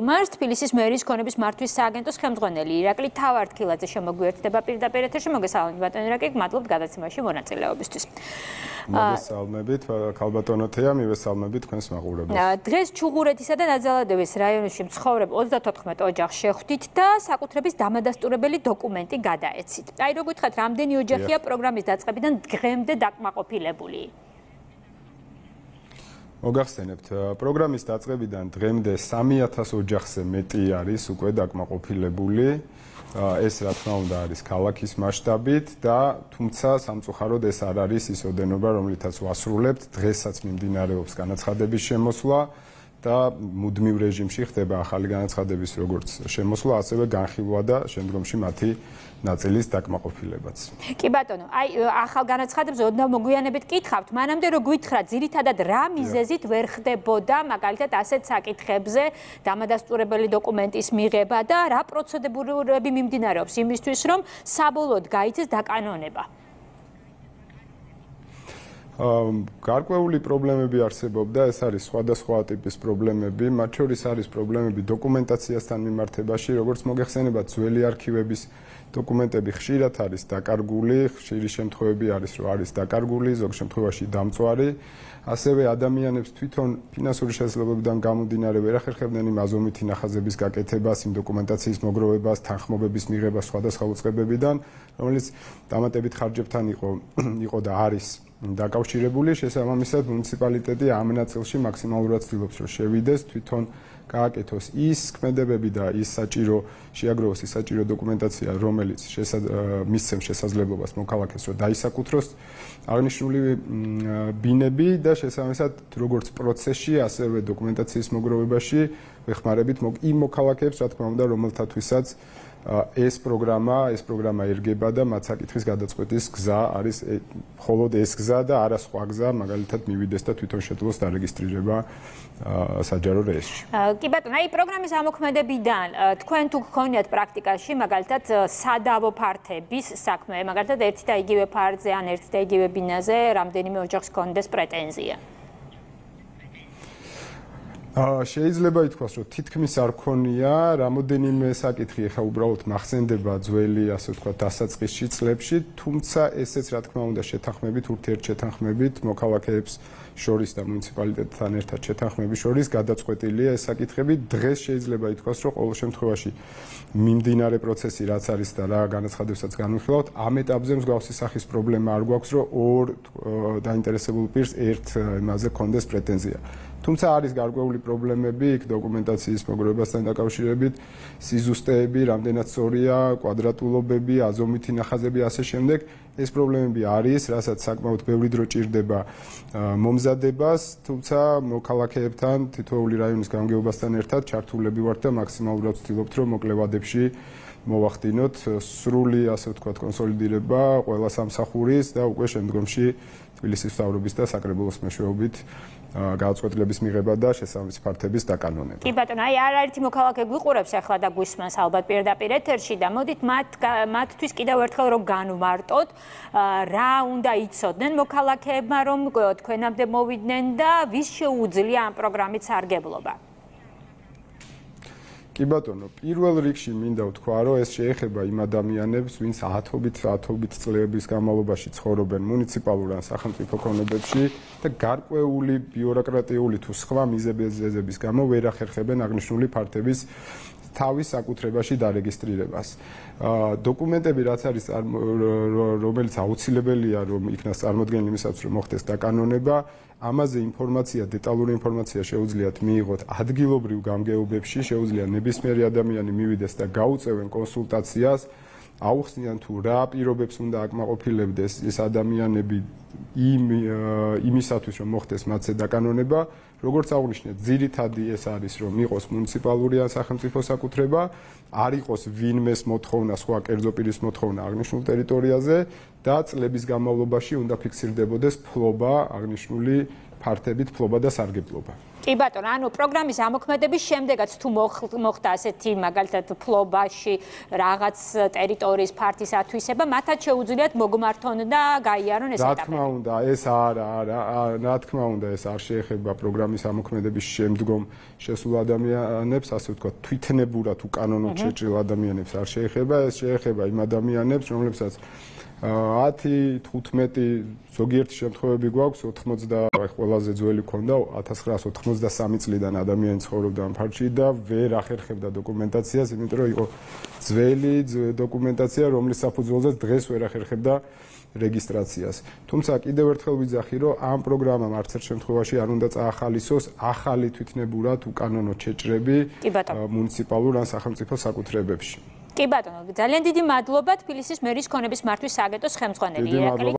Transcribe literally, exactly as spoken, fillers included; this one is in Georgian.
Მars თბილისის მერის ქონების მართვის სააგენტოს ხელმძღვანელი ირაკლი თავარდქილაძე შემოგვიერთდება პირდაპირ ეთერში. მოგესალმებით ბატონო ირაკლი, მადლობთ გადაცემაში მონაწილეობისთვის. მოგესალმებით ქალბატონოთია, მივესალმებით თქვენს მაყურებელს. დღეს ჩუღურეთისა და ნაძალადევის რაიონში მცხოვრებ ოცდათოთხმეტ ოჯახს შეხვდით და საკუთრების დამადასტურებელი დოკუმენტი გადაეცით. აი რო გითხრათ, რამდენი ოჯახია პროგრამის დაწყებიდან დღემდე დაკმაყოფილებული? მოგახსენებთ, პროგრამის დაწყებიდან დღემდე სამი ათას ოჯახზე მეტი არის უკვე დაკმაყოფილებული. ეს რა თქმა უნდა არის ქალაქის მასშტაბით და თუმცა სამწუხაროდ ეს არ არის ის ოდენობა, რომლითაც ვასრულებთ. დღესაც მიმდინარეობს განაცხადების შემოსვლა და მუდმივ რეჟიმში ხდება ახალი განაცხადების როგორც შემოსვლა, ასევე განხილვა და შემდგომში მათი ნაწილის დაკმაყოფილებაც. კი ბატონო, აი ახალ განაცხადებს ოდნავ მოგვიანებით კითხავთ, მანამდე რო გითხრათ, ძირითადად რა მიზეზით ვერ ხდებოდა მაგალითად ასეთ საკითხებზე დამადასტურებელი დოკუმენტის მიღება და რა პროცედურები მიმდინარეობს იმისთვის, რომ საბოლოოდ გაიცეს დაკანონება? გარკვეული პრობლემები არსებობდა, ეს არის სხვადასხვა ტიპის პრობლემები, მათ შორის არის პრობლემები დოკუმენტაციასთან მიმართებაში, როგორც მოგეხსენებათ, ძველი არქივების დოკუმენტები ხშირად არის დაკარგული, ხშირი შემთხვევები არის, რომ არის დაკარგული, ზოგ შემთხვევაში დამწვარი. ასევე ადამიანებს თვითონ ფინანსური შესაძლებლობიდან გამომდინარე ვერ ახერხებდნენ იმ აზომვითი ნახაზების გაკეთებას, იმ დოკუმენტაციის მოგროვებას, თანხმობების მიღებას სხვადასხვა უწყებებიდან, რომელიც დამატებით ხარჯებთან იყო იყო და არის დაკავშირებული. შესაბამისად, მუნიციპალიტეტი ამ ნაწილში მაქსიმალურად ცდილობს, რომ შევიდეს, თვითონ გააკეთოს ის ქმედებები და ის საჭირო შეაგროვოს ის საჭირო დოკუმენტაცია, რომელიც მისცემს შესაძლებლობას მოქალაქეს, რომ დაისაკუთროს აღნიშნული ბინები და შესაბამისად, როგორც პროცესში, ასევე დოკუმენტაციის მოგროვებაში ვეხმარებით იმ მოქალაქეებს, რა თქმა უნდა, რომელთათვისაც ეს პროგრამა, ეს პროგრამა ერგება და მათ საკითხის გადაწყვეტის გზა არის მხოლოდ ეს გზა და არა სხვა გზა, მაგალითად მივიდეს და თვითონ შეძლოს დარეგისტრირება საჯარო რეესტრში. კი ბატონო, აი პროგრამის ამოქმედებიდან თქვენ თუ გქონიათ პრაქტიკაში, მაგალითად სადავო ფართების საქმე, მაგალითად ერთი და იგივე ფარდზე ან ერთი და იგივე ბინაზე რამდენიმე ოჯახს ჰქონდეს პრეტენზია? შეიძლება ითქვას, რომ თითქმის არ ქონია, რამოდენიმე საკითხი ახლა უბრალოდ მახსენდება ძველი, ასე ვთქვათ, დასაწყისში წლებში, თუმცა ესეც რა თქმა უნდა შეთანხმებით, ურთიერთშეთანხმებით მოქალაქეებს შორის და მუნიციპალიტეტთან ერთად შეთანხმების შორის გადაწყვეტილია ეს საკითხები. დღეს შეიძლება ითქვას, რომ ყოველ შემთხვევაში მიმდინარე პროცესი რაც არის და რა განაცხადებსაც განვიხილავთ, ამ ეტაპზე მსგავსი სახის პრობლემა არ გვაქვს, რომ ორ დაინტერესებულ პირს ერთ იმაზე ჰქონდეს პრეტენზია. თუმცა არის გარკვეული პრობლემები იქ დოკუმენტაციის მოგროვებასთან დაკავშირებით, სიზუსტეები, რამდენად სწორია, კვადრატულობები, აზომვითი ნახაზები ასე შემდეგ. ეს პრობლემები არის, რასაც საკმაოდ ბევრი დრო ჭირდება მომზადებას, თუმცა მოქალაქეებთან, თითოეული რაიონის გამგეობასთან ერთად ჩართულები ვართ და მაქსიმალურად ვცდილობთ, რომ მოკლევადებში მოვახდინოთ სრული, ასე ვთქვათ, კონსოლიდირება ყველა სამსახურის და უკვე შემდგომში თბილისის მთავრობის და საკრებულოს მეშვეობით გადაწყვეტილების მიღება და შესაბამისი ფართების დაკანონება. კი ბატონო, აი არაერთი მოქალაქე გვიყურებს ახლა და გვისმენს ალბათ პირდაპირ ეთერში და მოდით მათ მათთვის კიდევ ერთხელ რომ განვარტოთ, რა უნდა იცოდნენ მოქალაქეებმა, რომ თქვენამდე მოვიდნენ და ვის შეუძლია ამ პროგრამით სარგებლობა? კი ბატონო, პირველ რიგში მინდა ვთქვა, რომ ეს შეეხება იმ ადამიანებს, ვინც ათობით ათობით წლების განმავლობაში ცხოვრობენ მუნიციპალურ ან სახელმწიფო ქონებებში და გარკვეული ბიუროკრატიული თუ სხვა მიზეზების გამო ვერ ახერხებენ აღნიშნული ფართების თავის საკუთრებაში დარეგისტრირებას. დოკუმენტები რაც არის რომელიც აუცილებელია რომ იქნას წარმოდგენილი იმისათვის რომ მოხდეს დაკანონება, ამაზე ინფორმაცია, დეტალური ინფორმაცია შეუძლიათ მიიღოთ ადგილობრივ გამგეობებში, შეუძლია ნებისმიერი ადამიანი მივიდეს და გაუწევენ კონსულტაციას, აუხსნიან თუ რა პირობებს უნდა აკმაყოფილებდეს ეს ადამიანები იმ იმისათვის რომ მოხდეს მათზე დაკანონება. როგორც აღნიშნეთ, ძირითადი ეს არის რომ იყოს მუნიციპალური ან სახელმწიფო საკუთრება, არ იყოს ვინმეს მოთხოვნა, სხვა კერძო პირის მოთხოვნა აღნიშნულ ტერიტორიაზე და წლების განმავლობაში უნდა ფიქსირდებოდეს ფლობა აღნიშნული ფართებით ფლობა და სარგებლობა. კი ბატონო, ანუ პროგრამის ამოქმედების შემდეგაც თუ მოხდა ასეთი მაგალითად ფლობაში რაღაც ტერიტორიის ფართის ათვისება, მათაც შეუძლიათ მოგმართონ და გაიარონ ეს ეტაპები. რა თქმა უნდა, ეს არა, არა, რა თქმა უნდა, ეს არ შეეხება პროგრამის ამოქმედების შემდგომ შესულ ადამიანებს, ასე ვთქვათ, თვითნებურად უკანონოდ შეჭრილ ადამიანებს არ შეეხება, ეს შეეხება იმ ადამიანებს, რომლებსაც ათი, თხუთმეტი ზოგიერთი შემთხვევები გვაქვს ოთხმოცდა ყველაზე ძველი ქონდა ათას ცხრაასი ოთხმოცდასამი წლიდან ადამიანი ცხოვრობდა ამ ფარგლებში და ვერ ახერხებდა დოკუმენტაციას, იმიტომ რომ იყო ძველი დოკუმენტაცია, რომლის საფუძველზეც დღეს ვერ ახერხებდა რეგისტრაციას. თუმცა კიდევ ერთხელ ვიძახი, რომ ამ პროგრამამ არც ერთ შემთხვევაში არ უნდა წაახალისოს ახალი თვითნებურად უკანონო შეჭრები მუნიციპალურ ან სახელმწიფო საკუთრებებში. კი ბატონო, ძალიან დიდი მადლობა თბილისის მერის ქონების მართვის სააგენტოს ხელმძღვანელი ირაკლი